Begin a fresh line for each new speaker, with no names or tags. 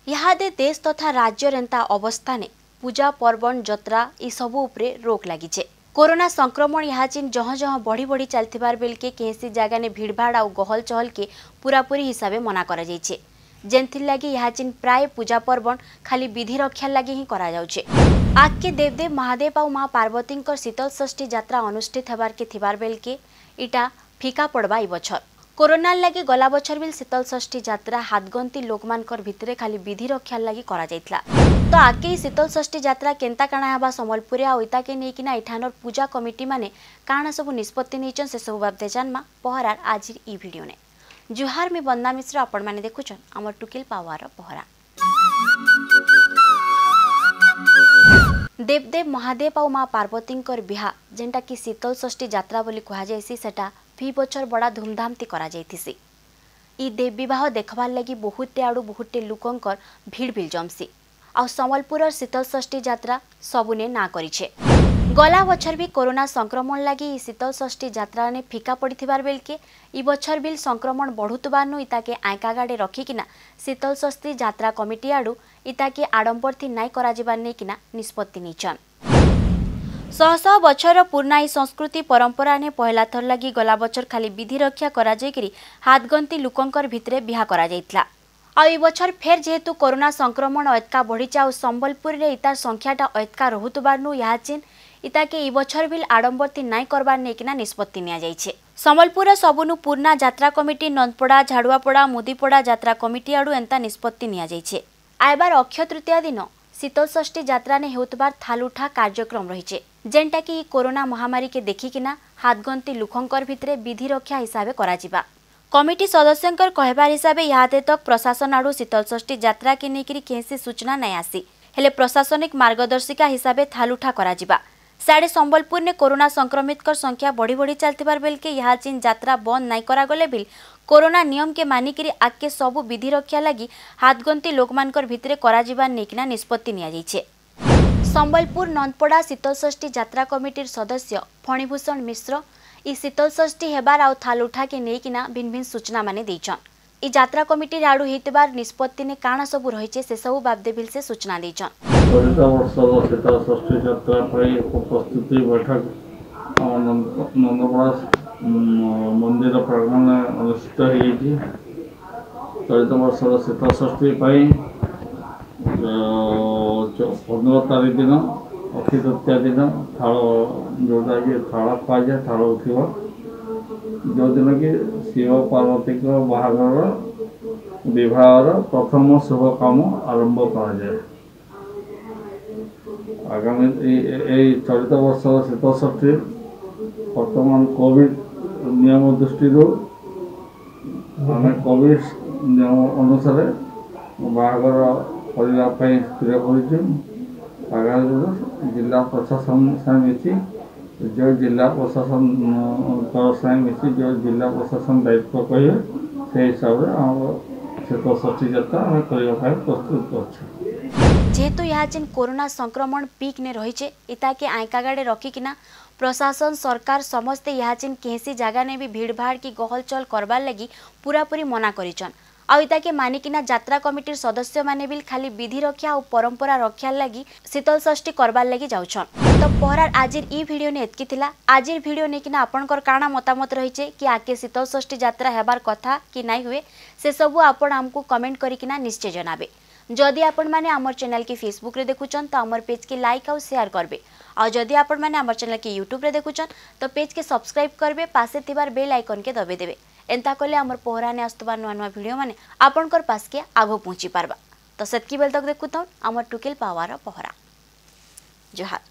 ଇହାଦେ ଦେଶ ତଥା ରାଜ୍ୟର ଏନ୍ତା ଅବସ୍ଥାନେ ପୂଜା ପର୍ବଣ ଯାତ୍ରା ଏସବୁ ଉପରେ ରୋକ ଲାଗିଛେ। କୋରୋନା ସଂକ୍ରମଣ ଇହାଚିନ୍ ଜହ ଜହ ବଢ଼ି ବଢ଼ି ଚାଲିଥିବାର ବେଲକେ କେହେସି ଜାଗାନେ ଭିଡ଼ଭାଡ଼ ଆଉ ଗହଲ ଚହଲକେ ପୁରାପୁରି ହିସାବେ ମନା କରାଯାଇଛେ, ଯେନ୍ଥିର୍ ଲାଗି ଇହାଚିନ୍ ପ୍ରାୟ ପୂଜା ପର୍ବଣ ଖାଲି ବିଧି ରକ୍ଷା ଲାଗି ହିଁ କରାଯାଉଛେ। ଆଗକେ ଦେବଦେବ ମହାଦେବ ଆଉ ମା ପାର୍ବତୀଙ୍କର ଶୀତଳ ଷଷ୍ଠୀ ଯାତ୍ରା ଅନୁଷ୍ଠିତ ହେବାର୍କେ ଥିବାର ବେଲକେ ଇଟା ଫିକା ପଡ଼ବା ଇ ବଛର। କୋରୋନାର ଲାଗି ଗଲା ବଛର ବିଲ୍ ଶୀତଳ ଷଷ୍ଠୀ ଯାତ୍ରା ହାତଗନ୍ତି ଲୋକମାନଙ୍କର ଭିତରେ ଖାଲି ବିଧି ରକ୍ଷାର ଲାଗି କରାଯାଇଥିଲା। ତ ଆଗକେ ଶୀତଳ ଷଷ୍ଠୀ ଯାତ୍ରା କେନ୍ତା କାଣା ହେବା ସମ୍ବଲପୁରରେ ଆଉ ଇତାକେ ନେଇକିନା ଏଠାନର ପୂଜା କମିଟି ମାନେ କାଣା ସବୁ ନିଷ୍ପତ୍ତି ନେଇଛନ୍ ସେସବୁ ବାବଦେ ଜାନମା ପହରାର ଆଜିର ଇ ଭିଡ଼ିଓନେ। ଜୁହାର, ମି ବନ୍ଦନା ମିଶ୍ର, ଆପଣମାନେ ଦେଖୁଛନ୍ ଆମର ଟୁକିଲ ପାୱାର ପହରା। ଦେବଦେବ ମହାଦେବ ଆଉ ମା ପାର୍ବତୀଙ୍କର ବିହା ଯେନ୍ଟାକି ଶୀତଳ ଷଷ୍ଠୀ ଯାତ୍ରା ବୋଲି କୁହାଯାଏସି, ସେଟା ଫି ବଛର ବଡ଼ା ଧୁମଧାମତି କରାଯାଇଥିସି। ଇ ଦେବ ବିବାହ ଦେଖବାର୍ ଲାଗି ବହୁତଟେ ଆଡ଼ୁ ବହୁତଟେ ଲୋକଙ୍କର ଭିଡ଼ ବିଲ୍ ଜମସି ଆଉ ସମ୍ବଲପୁରର ଶୀତଳ ଷଷ୍ଠୀ ଯାତ୍ରା ସବୁନେ ନା କରିଛେ। ଗଲା ବଛର ବି କୋରୋନା ସଂକ୍ରମଣ ଲାଗି ଇ ଶୀତଳ ଷଷ୍ଠୀ ଯାତ୍ରାନେ ଫିକା ପଡ଼ିଥିବାର ବେଲକେ ଇ ବଛର ବିଲ୍ ସଂକ୍ରମଣ ବଢ଼ୁଥିବାରନୁ ଇତାକେ ଆଇଁକାଗାଡ଼େ ରଖିକିନା ଶୀତଳ ଷଷ୍ଠୀ ଯାତ୍ରା କମିଟି ଆଡ଼ୁ ଇତାକେ ଆଡ଼ମ୍ବରଥି ନାଇଁ କରାଯିବାର ନେଇକିନା ନିଷ୍ପତ୍ତି ନେଇଛନ୍। ଶହ ଶହ ବଛରର ପୁରୁଣା ଇ ସଂସ୍କୃତି ପରମ୍ପରାନେ ପହିଲା ଥର ଲାଗି ଗଲା ବଛର ଖାଲି ବିଧି ରକ୍ଷା କରାଯାଇକିରି ହାତଗନ୍ତି ଲୋକଙ୍କର ଭିତରେ ବିହା କରାଯାଇଥିଲା। ଆଉ ଏ ବଛର ଫେର୍ ଯେହେତୁ କରୋନା ସଂକ୍ରମଣ ଅଏତକା ବଢ଼ିଛେ ଆଉ ସମ୍ବଲପୁରରେ ଇତାର ସଂଖ୍ୟାଟା ଅଏତକା ରହୁଥିବାରନୁ ଇହାଚିନ୍ ଇତାକେ ଇ ବଛର ବିଲ୍ ଆଡ଼ମ୍ବରଥି ନାଇଁ କରବାର ନେଇକିନା ନିଷ୍ପତ୍ତି ନିଆଯାଇଛେ। ସମ୍ବଲପୁରର ସବୁନୁ ପୁରୁଣା ଯାତ୍ରା କମିଟି ନନ୍ଦପଡ଼ା, ଝାଡ଼ୁଆପଡ଼ା, ମୁଦିପଡ଼ା ଯାତ୍ରା କମିଟି ଆଡ଼ୁ ଏନ୍ତା ନିଷ୍ପତ୍ତି ନିଆଯାଇଛେ। ଆଇବାର ଅକ୍ଷୟ ତୃତୀୟା ଦିନ ଶୀତଳଷଷ୍ଠୀ ଯାତ୍ରାନେ ହେଉଥିବାର ଥାଲୁଠା କାର୍ଯ୍ୟକ୍ରମ ରହିଛେ, ଯେନ୍ଟାକି ଇ କୋରୋନା ମହାମାରୀକେ ଦେଖିକିନା ହାତଗନ୍ତି ଲୋକଙ୍କର ଭିତରେ ବିଧି ରକ୍ଷା ହିସାବେ କରାଯିବା। କମିଟି ସଦସ୍ୟଙ୍କର କହିବାର ହିସାବେ ଇହାଦେ ତକ୍ ପ୍ରଶାସନ ଆଡ଼ୁ ଶୀତଳଷଷ୍ଠୀ ଯାତ୍ରାକେ ନେଇକିରି କେହେସି ସୂଚନା ନାଇଁ ଆସି, ହେଲେ ପ୍ରଶାସନିକ ମାର୍ଗଦର୍ଶିକା ହିସାବେ ଥାଲୁଠା କରାଯିବା। ସାଡ଼େ ସମ୍ବଲପୁରନେ କୋରୋନା ସଂକ୍ରମିତଙ୍କର ସଂଖ୍ୟା ବଢ଼ି ବଢ଼ି ଚାଲିଥିବାର ବେଲକେ ଇହାଚିନ୍ ଯାତ୍ରା ବନ୍ଦ ନାଇଁ କରାଗଲେ ବିଲ୍ କୋରୋନା ନିୟମକେ ମାନିକିରି ଆଗକେ ସବୁ ବିଧି ରକ୍ଷା ଲାଗି ହାତଗନ୍ତି ଲୋକମାନଙ୍କର ଭିତରେ କରାଯିବାର ନେଇକିନା ନିଷ୍ପତ୍ତି ନିଆଯାଇଛେ। ସମ୍ବଲପୁର ନନ୍ଦପଡ଼ା ଶୀତଳଷଷ୍ଠୀ ଯାତ୍ରା କମିଟିର ସଦସ୍ୟ ଫଣିଭୂଷଣ ମିଶ୍ର ଇ ଶୀତଳଷଷ୍ଠୀ ହେବାର ଆଉ ଥାଲୁଠାକେ ନେଇକିନା ଭିନ୍ନ ଭିନ୍ନ ସୂଚନା ମାନେ ଦେଇଛନ୍। ଇ ଯାତ୍ରା କମିଟିର ଆଡ଼ୁ ହେଇଥିବାର ନିଷ୍ପତ୍ତିନେ କାଣା ସବୁ ରହିଛେ ସେସବୁ ବାବଦେ ବିଲ୍ ସେ ସୂଚନା ଦେଇଛନ୍।
ଚଳିତ ବର୍ଷର ଶୀତଳ ଷଷ୍ଠୀ ଯାତ୍ରା ପାଇଁ ଏକ ପ୍ରସ୍ତୁତି ବୈଠକ ଆମ ନନ୍ଦପଡ଼ା ମନ୍ଦିର ପ୍ରାଙ୍ଗଣରେ ଅନୁଷ୍ଠିତ ହୋଇଯାଇଛି। ଚଳିତ ବର୍ଷର ଶୀତଳ ଷଷ୍ଠୀ ପାଇଁ 15 ତାରିଖ ଦିନ ଅକ୍ଷୟ ତୃତୀୟା ଦିନ ଥାଳ, ଯେଉଁଟାକି ଥାଳ କୁହାଯାଏ, ଥାଳ ଉଠିବ, ଯେଉଁଦିନ କି ଶିବ ପାର୍ବତୀଙ୍କ ବାହାଘର ବିବାହର ପ୍ରଥମ ଶୁଭ କାମ ଆରମ୍ଭ କରାଯାଏ। ଆଗାମୀ ଏଇ ଚଳିତ ବର୍ଷର ଶୀତଳଷଷ୍ଠୀ ବର୍ତ୍ତମାନ କୋଭିଡ଼ ନିୟମ ଦୃଷ୍ଟିରୁ ଆମେ କୋଭିଡ଼ ନିୟମ ଅନୁସାରେ ବାହାଘର କରିବା ପାଇଁ ସ୍ଥିର କରିଛୁ। ଆଗାମୀ ଜିଲ୍ଲା ପ୍ରଶାସନ ସାଙ୍ଗେ ମିଶି, ଯେଉଁ ଜିଲ୍ଲା ପ୍ରଶାସନ ସାଙ୍ଗେ ମିଶି ଯେଉଁ ଜିଲ୍ଲା ପ୍ରଶାସନ ଦାୟିତ୍ୱ କହିବେ ସେଇ ହିସାବରେ ଆମର ଶୀତଳଷଷ୍ଠୀ ଯାତ୍ରା ଆମେ କରିବା ପାଇଁ ପ୍ରସ୍ତୁତ ଅଛୁ।
ଯେହେତୁ ଇହାଚିନ୍ କୋରୋନା ସଂକ୍ରମଣ ପିକ୍ ନେ ରହିଛେ, ଇତାକେ ଆଇଁକାଗାଡ଼େ ରଖିକିନା ପ୍ରଶାସନ ସରକାର ସମସ୍ତେ ଇହାଚିନ୍ କେହେସି ଜାଗାନେ ବି ଭିଡ଼ଭାଡ଼ କି ଗହଲ ଚହଲ କରବାର୍ ଲାଗି ପୁରାପୁରି ମନା କରିଛନ୍। ଆଉ ଇତାକେ ମାନିକିନା ଯାତ୍ରା କମିଟିର ସଦସ୍ୟମାନେ ବି ଖାଲି ବିଧି ରକ୍ଷା ଆଉ ପରମ୍ପରା ରକ୍ଷାର ଲାଗି ଶୀତଳ ଷଷ୍ଠୀ କରବାର୍ ଲାଗି ଯାଉଛନ୍। ତ ପହରାର ଆଜିର ଇ ଭିଡ଼ିଓ ନେ ଏତ୍କି ଥିଲା। ଆଜିର ଭିଡ଼ିଓ ନେଇକିନା ଆପଣଙ୍କର କାଣା ମତାମତ ରହିଛେ କି ଆଗକେ ଶୀତଳ ଷଷ୍ଠୀ ଯାତ୍ରା ହେବାର କଥା କି ନାଇଁ ହୁଏ, ସେସବୁ ଆପଣ ଆମକୁ କମେଣ୍ଟ କରିକିନା ନିଶ୍ଚୟ ଜଣାବେ। ଯଦି ଆପଣମାନେ ଆମର ଚ୍ୟାନେଲକେ ଫେସବୁକରେ ଦେଖୁଛନ୍ ତ ଆମର ପେଜକେ ଲାଇକ୍ ଆଉ ସେୟାର କରିବେ, ଆଉ ଯଦି ଆପଣମାନେ ଆମର ଚ୍ୟାନେଲକେ ୟୁଟ୍ୟୁବରେ ଦେଖୁଛନ୍ ତ ପେଜକେ ସବସ୍କ୍ରାଇବ୍ କରିବେ, ପାଶେ ଥିବାର ବେଲ୍ ଆଇକନ୍କେ ଦବେଇ ଦେବେ। ଏନ୍ତା କଲେ ଆମର ପହରାନେ ଆସୁଥିବା ନୂଆ ନୂଆ ଭିଡ଼ିଓ ମାନେ ଆପଣଙ୍କର ପାସ୍କେ ଆଗ ପହଞ୍ଚି ପାରବା। ତ ସେତ୍କି ବେଲ୍ ତକ୍ ଦେଖୁଥାଉନ୍ ଆମର ଟୁକେଲ ପାୱାର ପହରା। ଜୁହାର।